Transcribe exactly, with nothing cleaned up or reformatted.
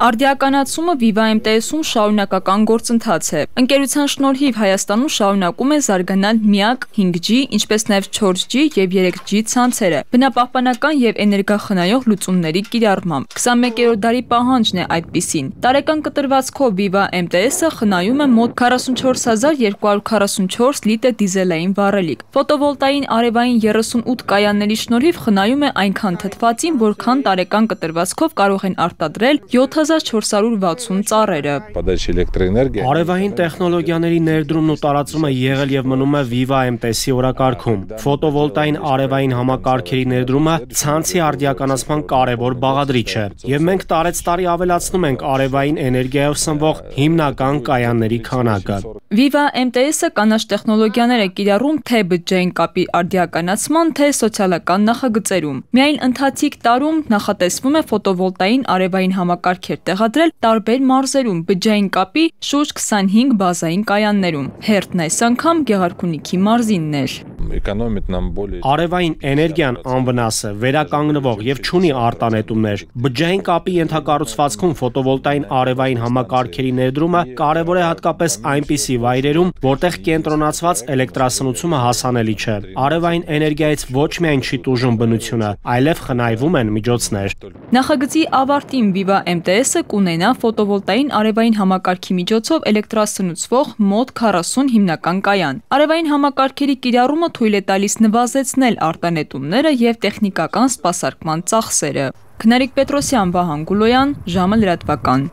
Արդիականացումը Viva էմ տե էս-ում շարունակական գործընթաց է։ Ընկերության շնորհիվ Հայաստանում շարունակում է զարգանալ միակ հինգ ջի, ինչպես նաև չորս ջի եւ երեք ջի ցանցերը, բնապահպանական եւ էներգախնայող լուծումների կիրառմամբ։ քսանմեկերորդ դարի պահանջն է այդպիսին։ Տարեկան կտրվածքով Viva էմ տե էս-ը խնայում է մոտ քառասունչորս հազար երկու հարյուր քառասունչորս լիտր դիզելային վառելիք։ Ֆոտովոլտային արևային երեսունութ կայանների շնորհիվ խնայում է այնքան թթվածին, որքան տարեկան կտրվածքով կարող են արտադրել յոթ հազար չորս հարյուր վաթսուն ծառերը։ Արևային տեխնոլոգիաների ներդրումն ու տարածումը եղել եւ մնում է Viva էմ տե էս-ի օրակարգում։ Ֆոտովոլտային արևային համակարգերի ներդրումը ցանցի արդիականացման կարևոր բաղադրիչ է, եւ մենք տարեցտարի ավելացնում ենք արևային էներգիայով սնվող հիմնական կայանների քանակը։ Viva էմ տե էս-ը կանաչ տեխնոլոգիաներ է կիրառում թե բջջային կապի արդիականացման, թե սոցիալական նախագծերում։ Միայն ընթացիկ տարում նախատեսվում է ֆոտովոլտային արևային համակարգեր տեղադրել տարբեր մարզերում, բջջային կապի շուրջ քսանհինգ բազային կայաններում։ Հերթն այս անգամ Գեղարքունիքի մարզինն էր։ Արևային էներգիան անվնաս է, վերականգնվող եւ չունի արտանետումներ։ Բջջային կապի ենթակառուցվածքում ֆոտովոլտային արևային համակարգերի ներդրումը կարևոր է հատկապես այնպիսի վայրերում, որտեղ կենտրոնացված էլեկտրասնությունը հասանելի չէ։ Արևային էներգիայից ոչ միայն չի տուժում բնությունը, այլև խնայվում են միջոցներ։ Նախագծի ավարտին Viva էմ տե էս-ը կունենա ֆոտովոլտային արևային համակարգի միջոցով էլեկտրասնուցվող մոտ քառասուն հիմնական կայան։ Արևային համակարգերի կիրառումը թույլ է տալիս նվազեցնել արտանետումները եւ տեխնիկական սպասարկման ծախսերը։ Քնարիկ Պետրոսյան, Վահան Գուլոյան, ժամը լրատվական։